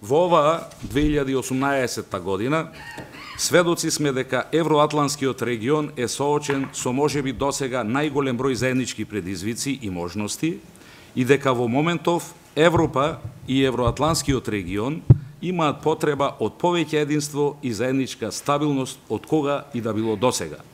Во оваа 2018 година сведоци сме дека евроатланскиот регион е соочен со можеби досега најголем број заеднички предизвици и можности и дека во моментов Европа и евроатланскиот регион имаат потреба од повеќе единство и заедничка стабилност од кога и да било досега.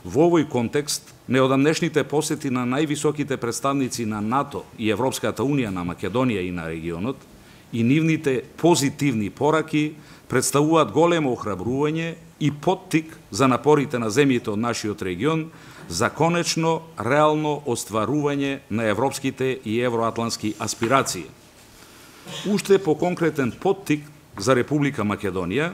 Во овој контекст, неодамнешните посети на највисоките представници на НАТО и Европската Унија на Македонија и на регионот и нивните позитивни пораки представуваат големо охрабрување и поттик за напорите на земјите од нашиот регион за конечно реално остварување на европските и евроатлански аспирации. Уште по конкретен поттик за Република Македонија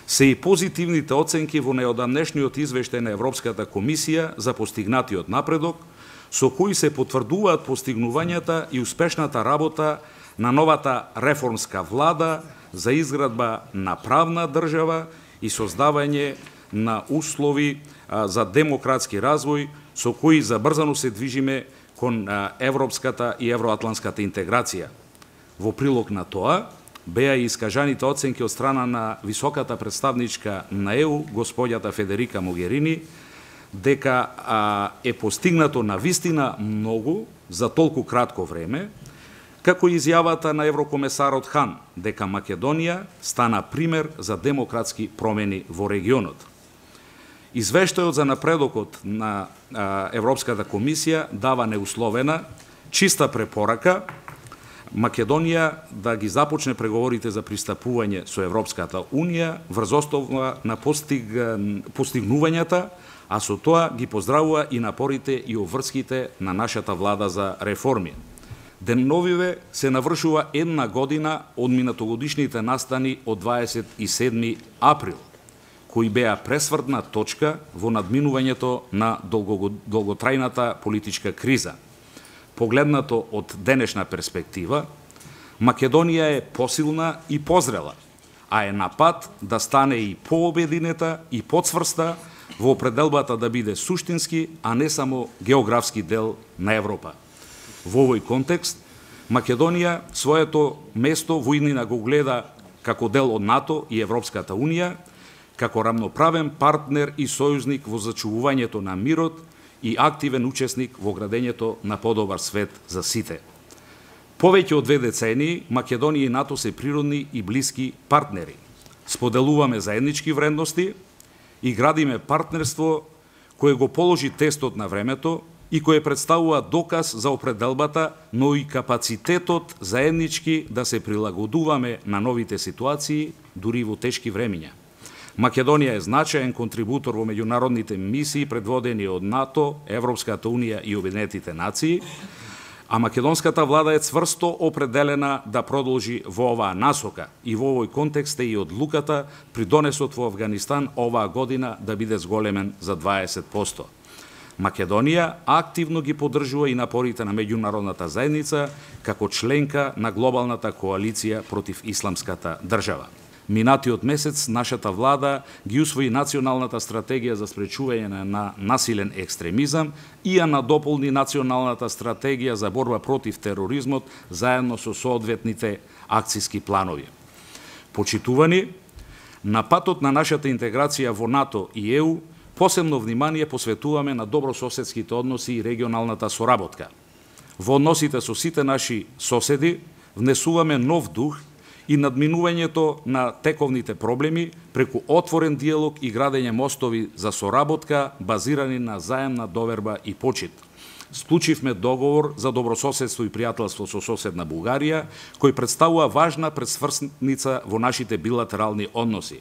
се и позитивните оценки во неодамнешниот извештај на Европската комисија за постигнатиот напредок, со кои се потврдуваат постигнувањата и успешната работа на новата реформска влада за изградба на правна држава и создавање на услови за демократски развој, со кои забрзано се движиме кон европската и евроатланската интеграција. Во прилог на тоа, беа и искажаните оценки од страна на високата представничка на ЕУ, господјата Федерика Могерини, дека е постигнато навистина многу за толку кратко време, како и изјавата на еврокомесарот Хан, дека Македонија стана пример за демократски промени во регионот. Извештајот за напредокот на Европската комисија дава неусловена, чиста препорака Македонија да ги започне преговорите за пристапување со Европската Унија врз основа на постигнувањата, а со тоа ги поздравува и напорите и обврските на нашата влада за реформи. Деновиве се навршува една година од минатогодишните настани од 27 април, кои беа пресвртна точка во надминувањето на долготрајната политичка криза. Погледнато од денешна перспектива, Македонија е посилна и позрела, а е на пат да стане и пообединета и подсврста во определбата да биде суштински, а не само географски дел на Европа. Во овој контекст, Македонија своето место во иднина го гледа како дел од НАТО и Европската Унија, како рамноправен партнер и сојузник во зачувувањето на мирот и активен учесник во градењето на подобар свет за сите. Повеќе од 2 децении, Македонија и НАТО се природни и блиски партнери. Споделуваме заеднички вредности и градиме партнерство кое го положи тестот на времето и кое представува доказ за определбата, но и капацитетот заеднички да се прилагодуваме на новите ситуации, дури во тешки времиња. Македонија е значаен контрибутор во меѓународните мисии предводени од НАТО, Европската Унија и Обединетите нации, а македонската влада е цврсто определена да продолжи во оваа насока и во овој контекст е и одлуката при донесот во Авганистан оваа година да биде зголемен за 20%. Македонија активно ги поддржува и напорите на меѓународната заедница како членка на глобалната коалиција против исламската држава. Минатиот месец нашата влада ги усвои националната стратегија за спречување на насилен екстремизам и ја надополни националната стратегија за борба против тероризмот заедно со соодветните акциски планови. Почитувани, на патот на нашата интеграција во НАТО и ЕУ, посебно внимание посветуваме на добрососедските односи и регионалната соработка. Во односите со сите наши соседи внесуваме нов дух и надминувањето на тековните проблеми преку отворен диалог и градење мостови за соработка базирани на заемна доверба и почит. Склучивме договор за добрососедство и пријателство со соседна Бугарија, кој представува важна пресврсница во нашите билатерални односи.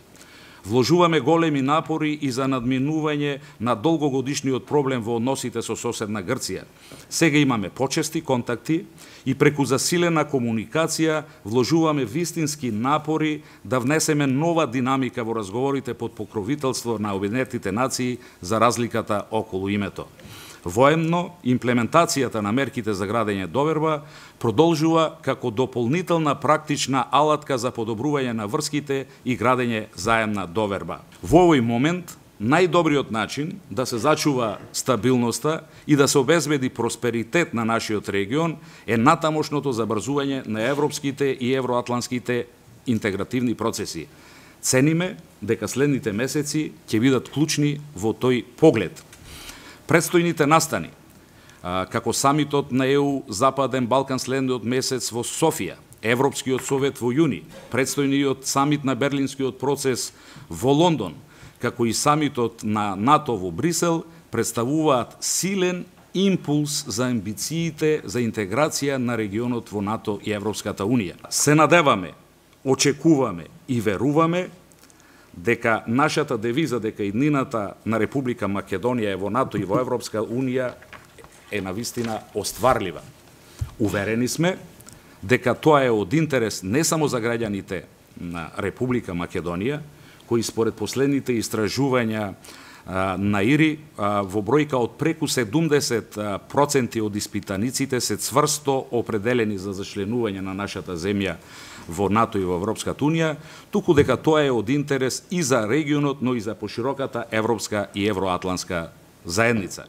Вложуваме големи напори и за надминување на долгогодишниот проблем во односите со соседна Грција. Сега имаме почести контакти и преку засилена комуникација вложуваме вистински напори да внесеме нова динамика во разговорите под покровителство на Обединетите нации за разликата околу името. Воемно, имплементацијата на мерките за градење доверба продолжува како дополнителна практична алатка за подобрување на врските и градење заемна доверба. Во овој момент, најдобриот начин да се зачува стабилноста и да се обезбеди просперитет на нашиот регион е натамошното забрзување на европските и евроатланските интегративни процеси. Цениме дека следните месеци ќе бидат клучни во тој поглед. Предстојните настани, како самитот на ЕУ Западен Балкан следниот месец во Софија, Европскиот совет во јуни, предстојниот самит на Берлинскиот процес во Лондон, како и самитот на НАТО во Брисел, представуваат силен импулс за амбициите за интеграција на регионот во НАТО и Европската Унија. Се надеваме, очекуваме и веруваме дека нашата девиза дека иднината на Република Македонија е во НАТО и во Европска Унија е навистина остварлива. Уверени сме дека тоа е од интерес не само за граѓаните на Република Македонија, кои според последните истражувања на ИРИ во бројка од преку 70% од испитаниците се цврсто определени за зачленување на нашата земја во НАТО и во Европската Унија, туку дека тоа е од интерес и за регионот, но и за пошироката европска и евроатланска заедница.